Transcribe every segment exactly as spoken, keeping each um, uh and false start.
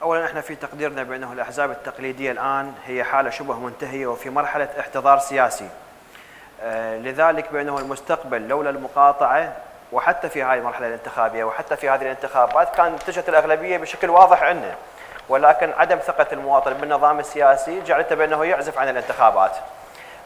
اولا احنا في تقديرنا بانه الاحزاب التقليديه الان هي حاله شبه منتهيه وفي مرحله احتضار سياسي. آه لذلك بانه المستقبل لولا المقاطعه، وحتى في هذه المرحله الانتخابيه وحتى في هذه الانتخابات كانت اتجهت الاغلبيه بشكل واضح عندنا، ولكن عدم ثقه المواطن بالنظام السياسي جعلته بانه يعزف عن الانتخابات.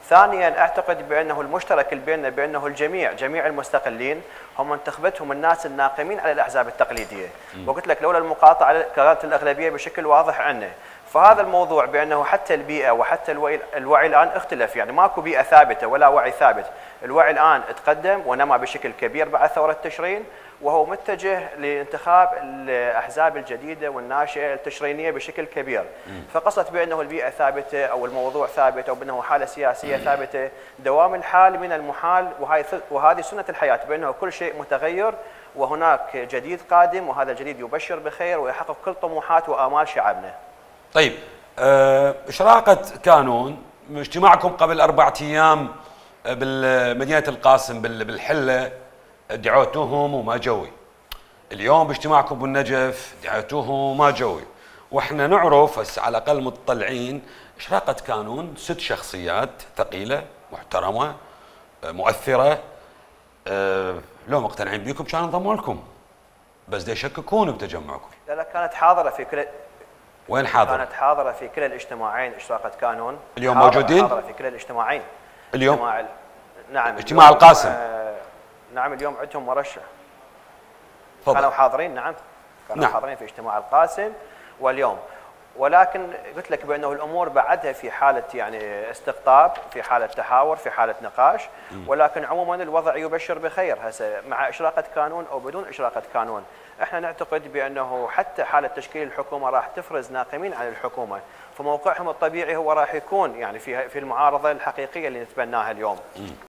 ثانيا اعتقد بانه المشترك بيننا بانه الجميع جميع المستقلين هم انتخبتهم الناس الناقمين على الاحزاب التقليديه، وقلت لك لولا المقاطعه كانت الاغلبيه بشكل واضح عندنا. فهذا الموضوع بانه حتى البيئه وحتى الوعي, الوعي الان اختلف، يعني ماكو بيئه ثابته ولا وعي ثابت، الوعي الان تقدم ونمى بشكل كبير بعد ثوره تشرين، وهو متجه لانتخاب الاحزاب الجديده والناشئه التشرينيه بشكل كبير. فقصت بانه البيئه ثابته او الموضوع ثابت او بانه حاله سياسيه ثابته، دوام الحال من المحال، وهي وهذه سنه الحياه بانه كل شيء متغير وهناك جديد قادم، وهذا الجديد يبشر بخير ويحقق كل طموحات وامال شعبنا. طيب أه اشراقه كانون، اجتماعكم قبل اربعة ايام بالمدينه القاسم بالحله دعوتوهم وما جوي. اليوم باجتماعكم بالنجف دعوتوهم وما جوي. واحنا نعرف هسه على الاقل مطلعين اشراقه كانون ست شخصيات ثقيله محترمه مؤثره، أه لو مقتنعين بيكم كانوا انضموا لكم، بس دا يشككون بتجمعكم. لا لا كانت حاضره في كل وين حاضره؟ كانت حاضره في كلا الاجتماعين اشراقه كانون. اليوم موجودين؟ حاضره في كلا الاجتماعين. اليوم؟ اجتماع ال... نعم اجتماع القاسم. آه... نعم اليوم عندهم مرشح. فضل. كانوا حاضرين، نعم كانوا نعم. حاضرين في اجتماع القاسم واليوم، ولكن قلت لك بانه الامور بعدها في حاله يعني استقطاب، في حاله تحاور، في حاله نقاش، ولكن عموما الوضع يبشر بخير. هسه مع اشراقه كانون او بدون اشراقه كانون، احنا نعتقد بانه حتى حاله تشكيل الحكومه راح تفرز ناقمين عن الحكومه، فموقعهم الطبيعي هو راح يكون يعني في في المعارضه الحقيقيه اللي نتبناها اليوم.